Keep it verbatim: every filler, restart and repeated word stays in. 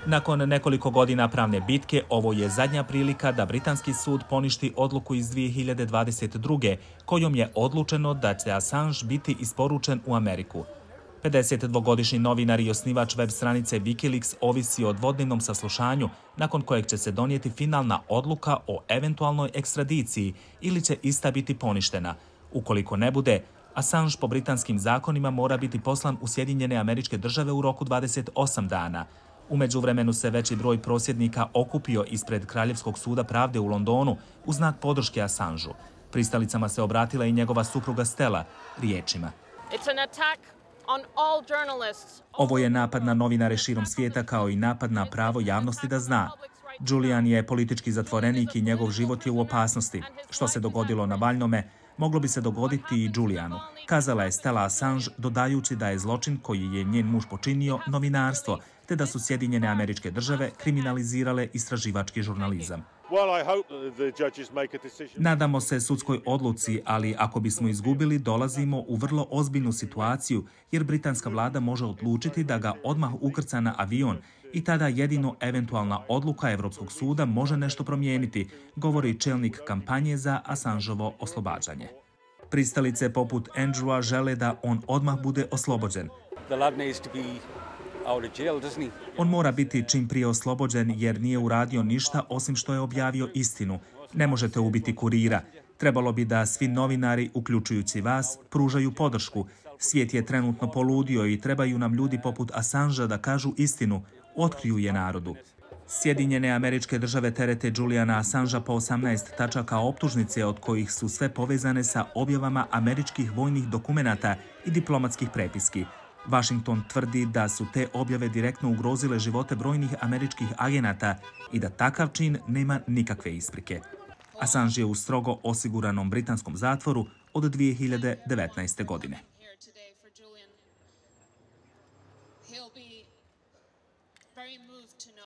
Nakon nekoliko godina pravne bitke, ovo je zadnja prilika da britanski sud poništi odluku iz dvije hiljade dvadeset druge. kojom je odlučeno da će Assange biti isporučen u Ameriku. pedesetdvogodišnji novinar i osnivač web stranice Wikileaks ovisi o dvodnevnom saslušanju, nakon kojeg će se donijeti finalna odluka o eventualnoj ekstradiciji ili će ista biti poništena. Ukoliko ne bude, Assange po britanskim zakonima mora biti poslan u Sjedinjene Američke Države u roku dvadeset osam dana. U međuvremenu se veći broj prosvjednika okupio ispred Kraljevskog suda pravde u Londonu u znak podrške Assangeu. Pristalicama se obratila i njegova supruga Stella riječima: "Ovo je napad na novinare širom svijeta kao i napad na pravo javnosti da zna. Julian je politički zatvorenik i njegov život je u opasnosti. Što se dogodilo Navalnome, moglo bi se dogoditi i Julianu", kazala je Stella Assange, dodajući da je zločin koji je njen muž počinio novinarstvo, te da su Sjedinjene Američke Države kriminalizirale istraživački žurnalizam. "Nadamo se sudskoj odluci, ali ako bismo izgubili, dolazimo u vrlo ozbiljnu situaciju, jer britanska vlada može odlučiti da ga odmah ukrca na avion i tada jedino eventualna odluka Evropskog suda može nešto promijeniti", govori čelnik kampanje za Assangeovo oslobađanje. Pristalice poput Andrewa žele da on odmah bude oslobođen. "On mora biti čim prije oslobođen jer nije uradio ništa osim što je objavio istinu. Ne možete ubiti kurira. Trebalo bi da svi novinari, uključujući vas, pružaju podršku. Svijet je trenutno poludio i trebaju nam ljudi poput Assangea da kažu istinu, otkriju je narodu." Sjedinjene Američke Države terete Juliana Assangea po osamnaest tačaka optužnice, od kojih su sve povezane sa objavama američkih vojnih dokumenata i diplomatskih prepiski. Washington tvrdi da su te objave direktno ugrozile živote brojnih američkih agenata i da takav čin nema nikakve isprike. Assange je u strogo osiguranom britanskom zatvoru od dvije hiljade devetnaeste. godine.